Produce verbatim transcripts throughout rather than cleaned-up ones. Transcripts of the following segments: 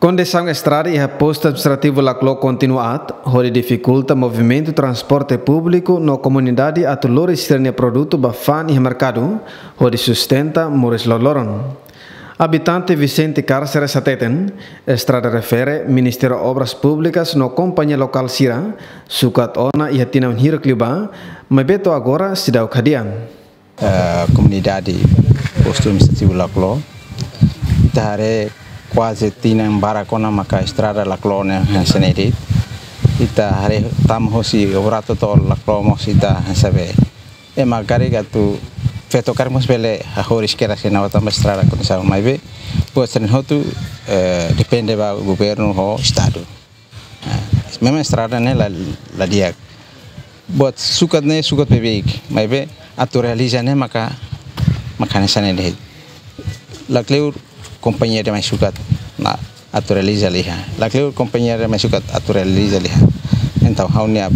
Kondisaun estrada iha postu administrativu Laclo kontinua aat, hodi difikulta movimentu transporte públiku no komunidade atu lori sira-nia produtu ba fa'an iha merkadu, hodi sustenta moris loroloron. Abitante Vicente Cárceres hateten, estrada refere Ministériu Obras Públikas no kompañia lokál sira sukat ona iha tinan hirak liubá, maibé to'o agora seidauk hadi'a. Eh, komunidade postu administrativu Laclo, ita haree kuaze tinan barak ona maka estrada Laclo ne'e hanesan ne'e de'it. Ita haree tama hosi Obrato to'o Laclo mós ita hanesan ne'e. Ema karik atu feto karik mós bele hahoris kedas iha ne'ebá tanba estrada kondisaun, maibé buat sira-ne'e hotu, eh, depende ba governu ho estadu. Eh, memang estrada ne'e la, la di'ak. Buat sukat ne'e sukat beibeik, maibé atu realiza ne'e maka, maka hanesan ne'e de'it. Lakleur kompañia ida mai sukat, nah, atu realiza liha. Lakleur kompañia ida mai sukat atu realiza liha. Entaun ha'u-nia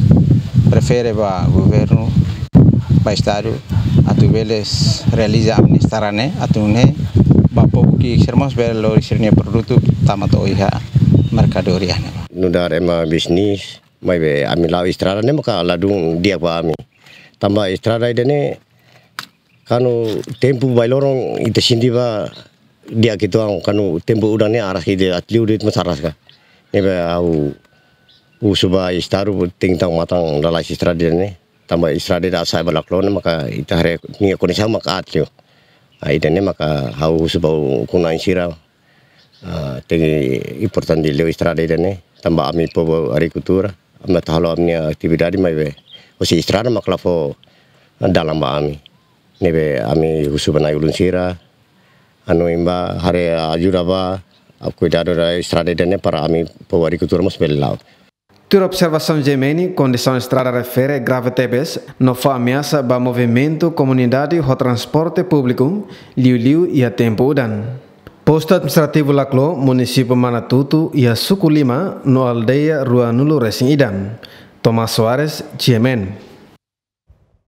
prefere ba governu, ba estadu, atu bele realiza ami-nia estrada ne'e, atu nune'e ba povu ki'ik sira mós bele lori sira-nia produtu tama to'o iha merkadoria ne'ebá. Nu'udar ema bisnis, maibé ami la'o estrada ne'e maka ladún di'ak ba ami. Tanba estrada ida-ne'e, kuandu tempu bailoron ita sente ba di'ak uitoan, kuandu tempu udan ne'e aras ida aat liu de'it mós aras ka. Ne'ebé ha'u husu ba estadu tenke tau matan lalais estrada ida-ne'e. Tanba estrada ida sa'e ba Laclo ne'e maka ita haree nia kondisaun maka aat liu. Ah, ida-ne'e maka ha'u husu ba ukun-na'in sira, ah, tenke importante liu estrada ida-ne'e. Tanba ami povu agrikultura, ami atu halo ami-nia atividade maibé hosi estrada maka la fó dalan ba ami. Ne'ebé ami husu ba na'i-ulun sira, anu imba haree ajuda ba, ah, kuidadu ba estrada ida-ne'e para ami povu agrikultura mós bele la'o. Tuir observasaun G M N, kondisaun estrada refere grave tebes, no fó ameasa ba movimentu komunidade ho transporte públiku, liuliu iha tempu udan. Postu administrativu Laclo, munisípiu Manatuto, iha suku lima, no aldeia ruanulu resin ida. Tomás Soares, G M N.